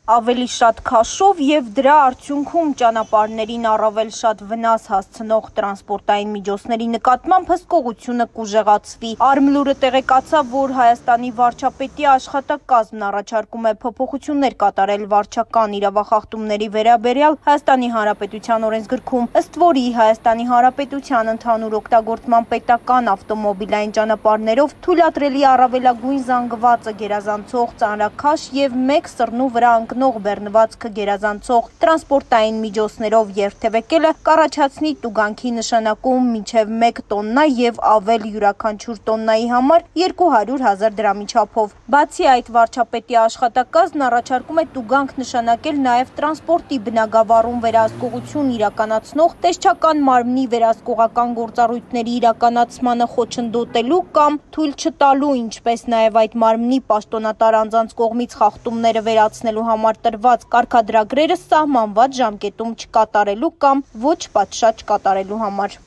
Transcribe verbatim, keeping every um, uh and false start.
Ավելի շատ քաշով եւ դրա արդյունքում ճանապարհներին առավել շատ վնաս հասցնող տրանսպորտային միջոցների նկատմամբ հսկողությունը կուժեղացվի։ Արմլուրը տեղեկացավ, որ Հայաստանի վարչապետի աշխատակազմն առաջարկում է փոփոխություններ կատարել վարչական իրավախախտումների վերաբերյալ Հայաստանի Հանրապետության օրենսգրքում, ըստ որի Հայաստանի Հանրապետության ընդհանուր օգտագործման պետական ավտոմոբիլային ճանապարհներով թույլատրելի առավելագույն զանգվածը գերազանցող ծանրաքաշ եւ մեկ սռնու վրա նող բեռնվածքը գերազանցող տրանսպորտային միջոցներով երթևեկելը կառաջացնի տուգանքի նշանակում մինչև մեկ տոննա եւ ավել յուրաքանչյուր տոննայի համար երկու հարյուր հազար դրամի չափով։ Բացի այդ, վարչապետի աշխատակազմն առաջարկում է տուգանք նշանակել նաեւ տրանսպորտի բնագավառում վերահսկողություն իրականացնող տեսչական մարմնի վերահսկողական գործառույթների իրականացմանը խոչընդոտելու կամ թույլ չտալու, ինչպես նաեւ այդ մարմնի պաշտոնատար անձանց կողմից խախտումները վերացնելու համար տրված կարգադրագրերը սահմանված ժամկետում չկատարելու կամ ոչ պատշաճ կատարելու համար։